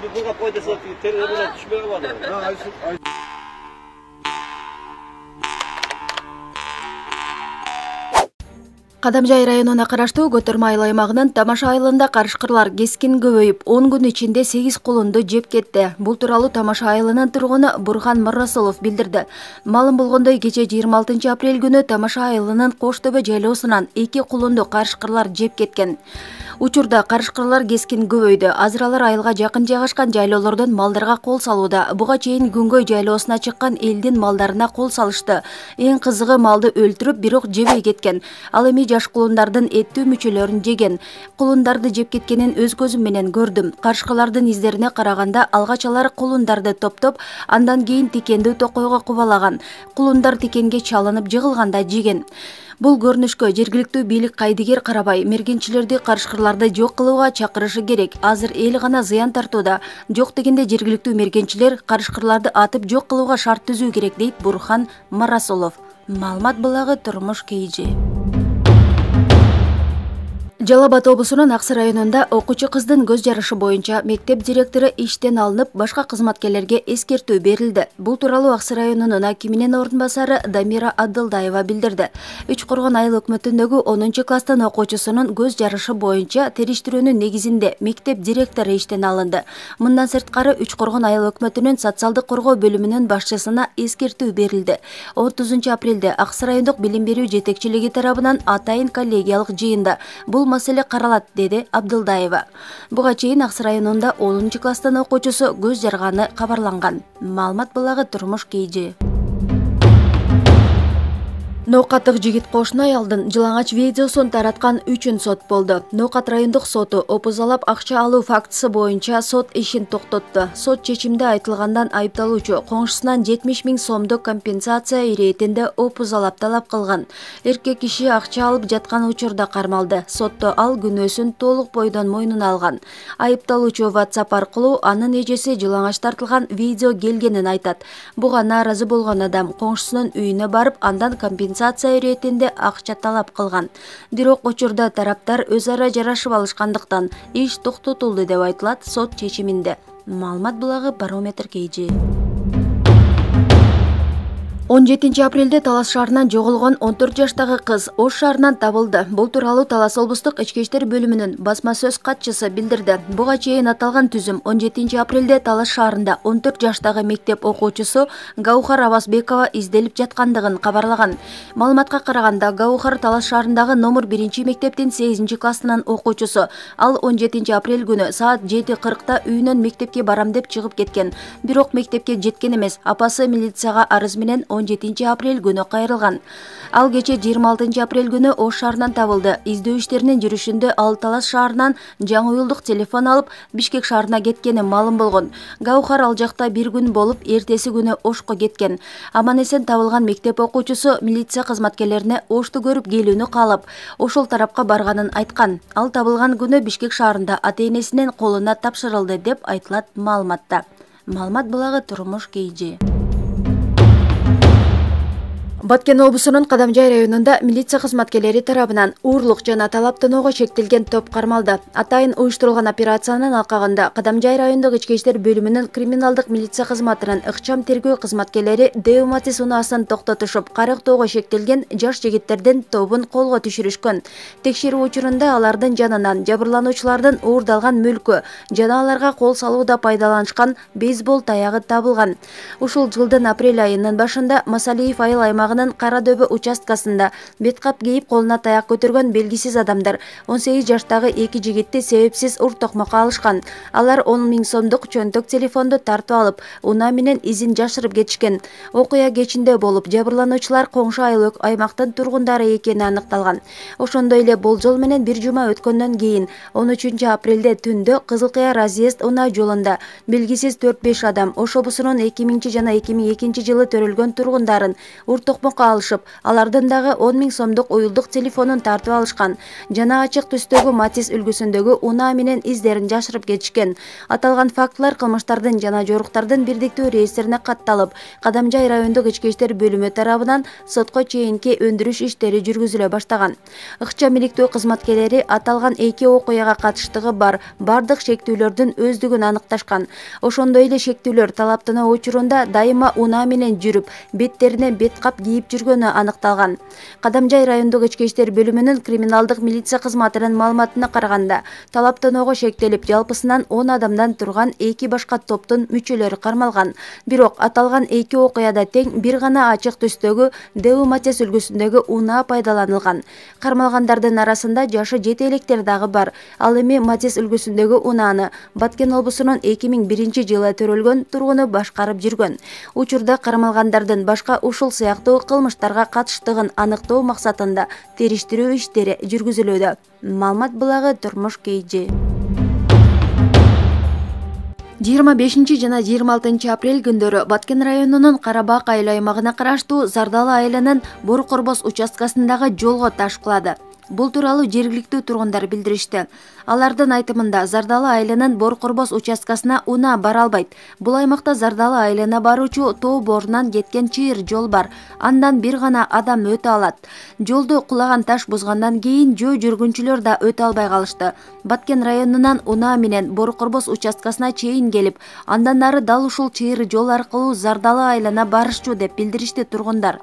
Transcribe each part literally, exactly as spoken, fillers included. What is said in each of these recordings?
буга кой десе телефонго түшпөй калды. Кадамжай районуна караштуу Көтөрмө айыл аймагынын Тамаша айылында карышкырлар кескин көбөйүп, он күн ичинде сегиз кулунду жеп кетти. Бул тууралуу Тамаша айылынын тургуну Бурхан Марасулов билдирди. Маалым болгондой, кече жыйырма алтынчы апрель күнү Тамаша айылынын Коштөбө жайлоосунан эки кулунду карышкырлар жеп кеткен. Учурда карышкырлар кескин көбөйдү. Азыр алар айылга жакын жайгашкан жайлоолордон малдарга кол салууда. Буга чейин Күнгөй жайлоосуна чыккан элдин малдарына кол салышты. Эң кызыгы, малды өлтүрүп, бирок жебей кеткен. Ал эми жаш кулундардын эттүү мүчөлөрүн жеген. Кулундарды жеп кеткенин өз көзүм менен көрдүм. Карышкылардын издерине караганда алгач алар кулундарды топтоп, андан кийин тикендүү токойго кубалаган. Кулундар тикенге чалынып жыгылганда жеген. Бул көрүнүшкө жергиликтүү бийлик кайдыгер карабай, мергенчилерди карышкырларды жок кылууга чакырышы керек. Азыр эл гана зыян тартууда. Жок дегенде жергиликтүү мергенчилер карышкырларды атып жок кылууга шарт түзүү керек, дейт Бурхан Марасулов. Маалымат булагы турмуш кейжи. Жалал Абад облусунун Аксы районунда окуучу кыздын көз жарышы боюнча мектеп директору иштен алынып, башка кызматкерлерге эскертүү берилди. Бул тууралуу Аксы районунун акиминин ордун басары Дамира Абдылдаева билдирди. Үч Коргон айыл өкмөтүндөгү онунчу класстын окуучусунун көз жарышы боюнча териштирүүнүн негизинде мектеп директору иштен алынды. Мындан сырткары Үч Коргон айыл өкмөтүнүн социалдык коргоо бөлүмүнүн башчысына эскертүү берилди. отузунчу апрелде Аксы райондук билим берүү жетекчилиги тарабынан атайын коллегиялык жыйында бул маселе каралат, деди Абдылдаева. Буга чейин Аксы районунда онунчу класстын окуучусу көз жарганы кабарланган. Маалымат булагы турмуш кейжи. Ноокаттык жигит кошуна аялдын жылаңач видеосун тараткан үчүн сот болду. Ноокат райондук соту опузалап акча алуу фактысы боюнча сот ишин токтотту. Сот чечимде айтылгандан айыпталуучу коңшусунан жетимиш миң сомдук компенсация иретинде опузалап талап кылган. Эркек киши акча алып жаткан учурда кармалды. Сотто ал күнөөсүн толук бойдон мойнуна алган. Айыпталуучу WhatsApp аркылуу анын эжеси жылаңач тартылган видео келгенин айтат. Буга нааразы болгон адам коңшусунун үйүнө барып, андан компенсация компенсация иретинде акча талап кылган. Бирок учурда тараптар өз ара жарашып алышкандыктан иш токтотулду деп айтылат сот чечиминде. Маалымат булагы Барометр кейжи. он жетинчи апрелде Талас шаарынан жоголгон он төрт жаштагы кыз Ош шаарынан табылды. Бул тууралуу Талас облустук ички иштер бөлүмүнүн басма сөз катчысы билдирди. Буга чейин аталган түзүм он жетинчи апрелде Талас шаарында он төрт жаштагы мектеп окуучусу Гаухар Абасбекова изделип жаткандыгын кабарлаган. Маалыматка караганда, Гаухар Талас шаарындагы номер биринчи мектептин сегизинчи классынын окуучусу. Ал он жетинчи апрель күнү саат жети кыркта үйүнөн мектепке барам деп чыгып кеткен. Бирок мектепке жеткен эмес. Апасы милицияга арыз менен он жетинчи апрель күнү кайрылган. Ал кече жыйырма алтынчы апрель күнү Ош шаарынан табылды. Издөө иштеринин жүрүшүндө ал Талас шаарынан жаңы уюлдук телефон алып Бишкек шаарына кеткени маалым болгон. Гаухар ал жакта бир күн болуп, эртеси күнү Ошко кеткен. Аман эсен табылган мектеп окуучусу милиция кызматкерлерине Ошту көрүп келүүнү каалап, ошол тарапка барганын айткан. Ал табылган күнү Бишкек шаарында ата-энесинин колуна тапшырылды деп айтылат маалыматта. Маалымат булагы турмуш кейжи. Баткен облусунун Кадамжай районунда милиция кызматкерлери тарабынан уурлук жана талаптоого чектелген топ кармалды. Атайын уюштурулган операциянын алкагында Кадамжай райондук ички иштер бөлүмүнүн криминалдык милиция кызматынын ыкчам тергөө кызматкерлери Деуматис унаасын токтотушуп, карыктоого шектелген жаш жигиттердин тобун колго түшүрүшкөн. Текшерүү учурунда алардын жанынан жабырлануучулардын уурдалган мүлкү жана аларга кол салууда пайдаланышкан бейсбол таягы табылган. Ушул жылдын апрель айынын башында Масалиев айыл аймагы Карадөбө участкасында беткап кейип колуна таяк көтөргөн белгисиз адамдар он сегиз жаштагы эки жигитти себепсиз ур токмокко алышкан. Алар он миң сомдук чөнтөк телефонду тартып алып, унаа менен изин жашырып кетишкен. Окуя кечинде болуп, жабырлануучулар коңшу айыл аймактын тургундары экени аныкталган. Ошондой эле болжол менен бир жума өткөндөн кийин он үчүнчү апрелде түндө Кызыл Кыя разъезд унаа жолунда белгисиз төрт беш адам Ош облусунун эки миңинчи жана эки миң экинчи жылы төрөлгөн тургундарын ур токмокко алышып, алардан дагы он миң сомдук уюлдук телефонун тартып алышкан жана ачык түстөгү Матис үлгүсүндөгү унаа менен издерин жашырып кетишкен. Аталган фактылар кылмыштардын жана жоруктардын бирдиктүү реестрине катталып, Кадамжай райондук ички иштер бөлүмү тарабынан сотко чейинки өндүрүш иштери жүргүзүлө баштаган. Ыкчам иликтөө кызматкерлери аталган эки окуяга катыштыгы бар бардык шектүүлөрдүн өздүгүн аныкташкан. Ошондой эле шектүүлөр талаптануу учурунда дайыма унаа менен жүрүп, беттерине бет кап кийип жүргөнү аныкталган. Кадамжай райондук ички иштер бөлүмүнүн криминалдык милиция кызматынын маалыматына караганда, талаптоноого шектелип, жалпысынан он адамдан турган эки башка топтун мүчөлөрү кармалган. Бирок аталган эки окуяда тең бир гана ачык түстөгү Дэу Матис үлгүсүндөгү унаа пайдаланылган. Кармалгандардын арасында жашы жети электер дагы бар. Ал эми Матис үлгүсүндөгү унааны Баткен облусунун эки миң биринчи жылы төрөлгөн тургуну башкарып жүргөн. Учурда кармалгандардын башка ушул сыяктуу кылмыштарга катыштыгын аныктоо максатында териштирүү иштери жүргүзүлүүдө. Маалымат булагы Турмуш Кейжи. жыйырма бешинчи жана жыйырма алтынчы апрель күндөрү Баткен районунун Карабак айыл аймагына караштуу Зардалы айылынын Бор Корбос участкасындагы жолго таш кулады. Бул тууралуу жергиликтүү тургундар билдиришти. Алардын айтымында Зардалы айылынын Бор Корбос участкасына унаа бара албайт. Бул аймакта Зардалы айылына баруучу тоо борунан кеткен чыйыр жол бар. Андан бир гана адам өтө алат. Жолду кулаган таш бузгандан кийин жөө жүргүнчүлөр да өтө албай калышты. Баткен районунан унаа менен Бор Корбос участкасына чейин келип, андан ары дал ушул чыйыр жол аркылуу Зардалы айылына барышчу деп билдиришти тургундар.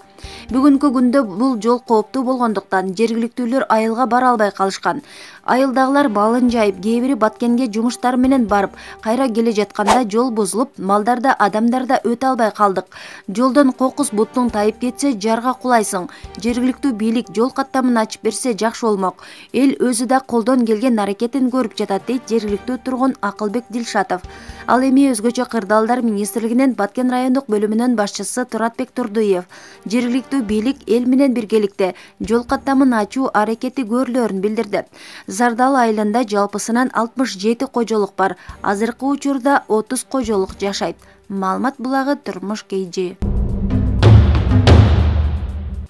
Бүгүнкү күндө бул жол кооптуу болгондуктан жергиликтүүлөр айылга бара албай калышкан. Айылдагылар балын жайып, кээ бири Баткенге жумуштар менен барып, кайра келе жатканда жол бузулуп, малдар да, адамдар да өтө албай калдык. Жолдон кокус бутуң тайып кетсе, жарга кулайсың. Жергиликтүү бийлик жол каттамын ачып берсе жакшы болмок. Эл өзү да колдон келген аракетин көрүп жатат, дейт жергиликтүү тургун Акылбек Дилшатов. Ал эми өзгөчө кырдаалдар министрлигинин Баткен райондук бөлүмүнүн башчысы Туратбек Турдуев жергиликтүү бийлик эл менен биргеликте жол каттамын ачуу аракети көрүлөрүн билдирди. Зардалы айылында жалпысынан алтымыш жети кожолук бар. Азыркы учурда отуз кожолук жашайт. Маалымат булагы Турмуш Кейжи.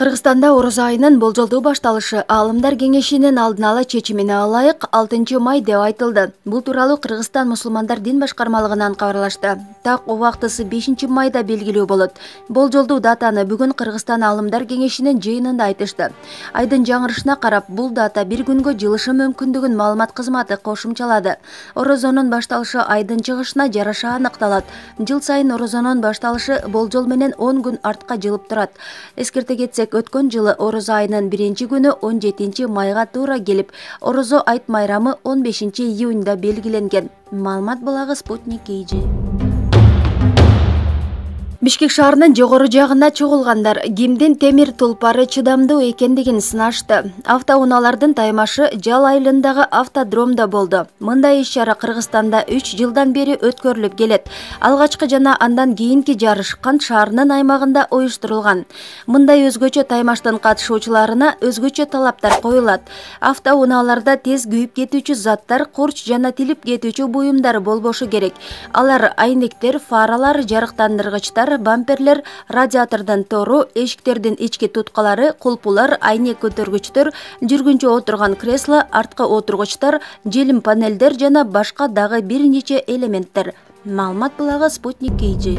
Кыргызстанда орозо айынын болжолдуу башталышы Аалымдар кеңешинин алдын ала чечимине ылайык алтынчы май деп айтылды. Бул тууралуу Кыргызстан мусулмандар дин башкармалыгынан кабарлашты. Так убактысы бешинчи майда белгилүү болот. Болжолдуу датаны бүгүн Кыргызстан Аалымдар кеңешинин жыйынында айтышты. Айдын жаңырышына карап, бул дата бир күнгө жылышы мүмкүндүгүн маалымат кызматы кошумчалады. Орозонун башталышы айдын чыгышына жараша аныкталат. Жыл сайын орозонун башталышы болжол менен он күн артка жылып турат. Эскерте кетсек, өткөн жылы орозо айынын биринчи күнү он жетинчи майга туура келип, орозо айт майрамы он бешинчи июнда белгиленген. Маалымат булагы Спутник Кейжи. Бишкек шаарынын жогору жагына чогулгандар кимдин темир тулпары чыдамдуу экендигин сынашты. Автоунаалардын таймашы Жал айылындагы автодромдо болду. Мындай иш-чара Кыргызстанда үч жылдан бери өткөрүлүп келет. Алгачкы жана андан кийинки жарыш Кант шаарынын аймагында уюштурулган. Мындай өзгөчө таймаштын катышуучуларына өзгөчө талаптар коюлат. Автоунааларда тез күйүп кетүүчү заттар, курч жана тилип кетүүчү буюмдар болбошу керек. Алар айнектер, фаралар, жарыктандыргычтар, бамперлер, радиатордун тору, эшиктердин ички туткалары, кулпулар, айнек көтөргүчтөр, жүргүнчү отурган кресло, арткы отургучтар, желим панелдер жана башка дагы бир нече элементтер. Маалымат булагы Спутник Кейжи.